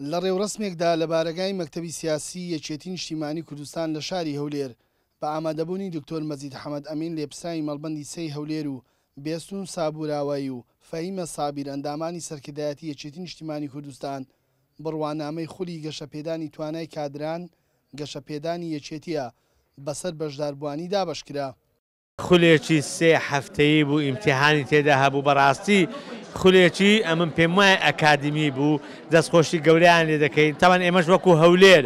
لە ڕێوڕەسمێکدا لە بارەگای مەکتەبی سیاسیی یەکێتی نیشتیمانی کوردستان لە شاری هەولێر بە ئامادەبوونی دکتۆر مەجید حەمەد ئەمین لێپرسراوی مەڵبەندی سێی هەولێر و بێستوون سابوراوایی و فەهیمە سابیر ئەندامانی سەرکردایەتی یەکێتی نیشتیمانی کوردستان بڕوانامەی خولی گەشەپێدانی توانای کادران گەشەپێدانی یەکێتییە بەسەر بەشداربووانی دابەشکرا. خولێکی سێ هەفتەیی بوو ئیمتیحانی تێدا هەبوو بەڕاستی خولێکی ئەمن پێم وایە ئەکادیمی بوو دەستخۆشی گەورەیان لێ دەکەین تاوان ئێمەش وەکو هەولێر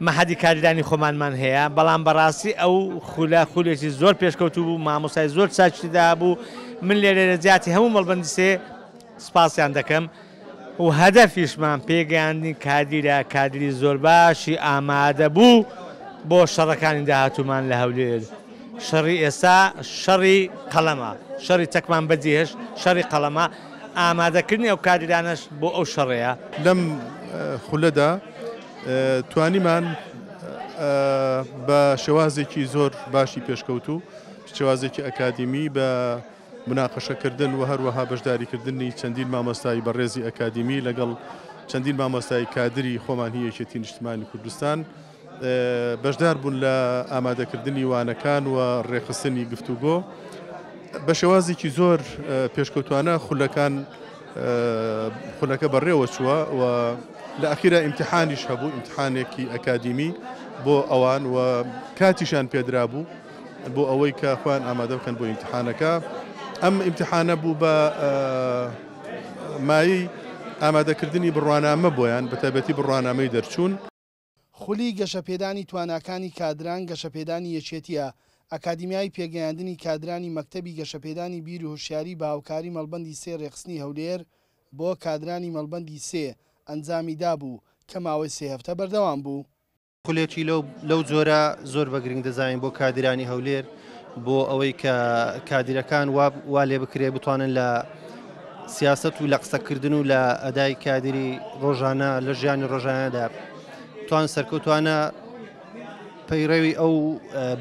مەحەدی کادیرانی خۆمانمان هەیە بەڵام بەڕاستی ئەو خولە خولێکی زۆر پێشکەوتوو بوو مامۆستای زۆر چاکی تێدا هەبوو من لێرە لە جیاتی هەموو مەڵبەندی سێ سپاسیان دەکەم و هەدەفیشمان پێگەیاندنی کادیرە، کادیری زۆر باشی ئامادەبوو بۆ شەڕەکانی داهاتوومان لە هەولێر. شەڕی ئێستا شەڕی قەڵەمە، شەڕی چەکمان بەجێهێشت، شەڕی قەڵەمە، ئامادەکردنی ئەو کادیرانەش بۆ ئەو شەڕەیە. لەم خولەدا توانیمان بە شێوازێکی زۆر باشی پێشکەوتوو، شێوازێکی ئەکادیمی بە موناقەشەکردن و هەروەها بەشداریکردنی چەندین مامۆستای بەڕێزی ئەکادیمی لەگەڵ چەندین مامۆستای کادری خۆمان هی یەکێتی نیشتمانی کوردستان بەشدار بوون لە ئامادەکردنی وانەکان و ڕێکخستنی گفتوگۆ بە شێوازێکی زۆر پێشکەوتوانە خولەکان خولەکە بەڕێوە چووە و لە ئەخیرا ئیمتحانیش هەبوو ئیمتحانێکی ئەکادیمی بۆ ئەوان و کاتیشان پێدرابوو. بۆ ئەوەی کە خۆیان ئامادە بکەن بۆ ئیمتحانەکە ئەم ئیمتحانە بوو بە مایەی ئامادەکردنی بڕوانامە بۆیان بە تایبەتی بڕوانامەی دەرچوون. خولی گەشەپێدانی تواناکانی کادران گەشەپێدانی یەکێتییە ئەکادیمیای پێگەیاندنی کادرانی مەکتەبی گەشەپێدانی بیر و هۆشیاری بە هاوکاری مەڵبەندی سێ رێکخستنی هەولێر بۆ کادرانی مەڵبەندی سێ ئەنجامی دابوو کە ماوەی سێ هەفتە بەردەوام بوو. خولێکی لەو جۆرە زۆر بە گرنگ دەزانین بۆ کادیرانی هەولێر بۆ ئەوەی کە کادیرەکان وا لێ بکرێ بتوانن لە سیاست و لە قسەکردن و لە ئەدای کادیری ڕۆژانە لە ژیانی ڕۆژانەدا توان سەرکەوتوانە پەیڕەوی ئەو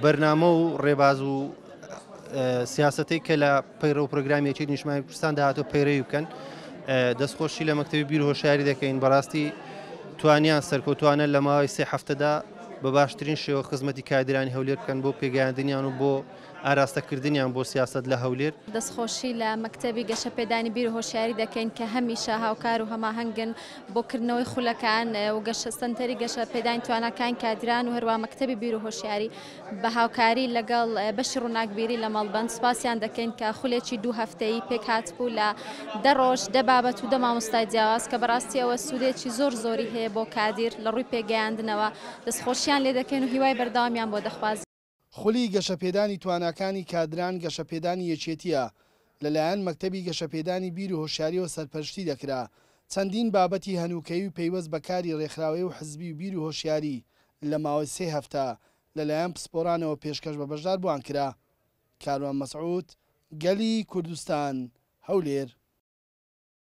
بەرنامە و ڕێباز و سیاسەتەی کە لە پەیڕەو پرۆگرامی یەکێتی نیشتمانی کوردستان داهاتوو پەیڕەوی بکەن دەستخۆشی لە مەکتەبی بیر هۆشیاری دەکەین بەڕاستی توانیان سەرکەوتوانە لە ماوەی سێ هەفتەدا بە باشترین شێوە خزمەتی کادرانی هەولێر بکەن بۆ پێگەیاندنیان و بۆ ئاراستەکردنیان بۆ سیاسەت لە هەولێر. دەستخۆشی لە مەکتەبی گەشەپێدانی بیر و هۆشیاری دەکەین کە هەمیشە هاوکار و هەماهەنگن بۆ کردنەوەی خولەکان و گەشە سەنتەری گەشەپێدانی تواناکانی کادران و هەروەها مەکتەبی بیر و هۆشیاری بە هاوکاری لەگەڵ بەشی ڕووناکبیری لە مەڵبەند سوپاسیان دەکەین کە خولێکی دوو هەفتەیی پێکهاتبوو لە دە ڕۆژ، دە بابەت و دە مامۆستای جیاواز کە بەڕاستی ئەوە سوودێکی زۆر زۆری هەیە بۆ کادیر لە ڕووی پێگەیاندنەوە، دەستخۆشیان لێ دەکەین و هیوای بەردەوامیان بۆ دەخوازین. خولی گەشەپێدانی تواناکانی کادران گەشەپێدانی یەکێتییە، لەلایەن مەکتەبی گەشەپێدانی بیر و هۆشیارییەوە سەرپەرشتی دەکرا، چەندین بابەتی هەنووکەیی و پەیوەست بە کاری ڕێکخراوەیی و حزبی و بیر و هۆشیاری لە ماوەی سێ هەفتە لەلایەن پسپۆرانەوە پێشکەش بە بەشداربووان کرا. کاروان مەسعود، گەلی کوردستان، هەولێر.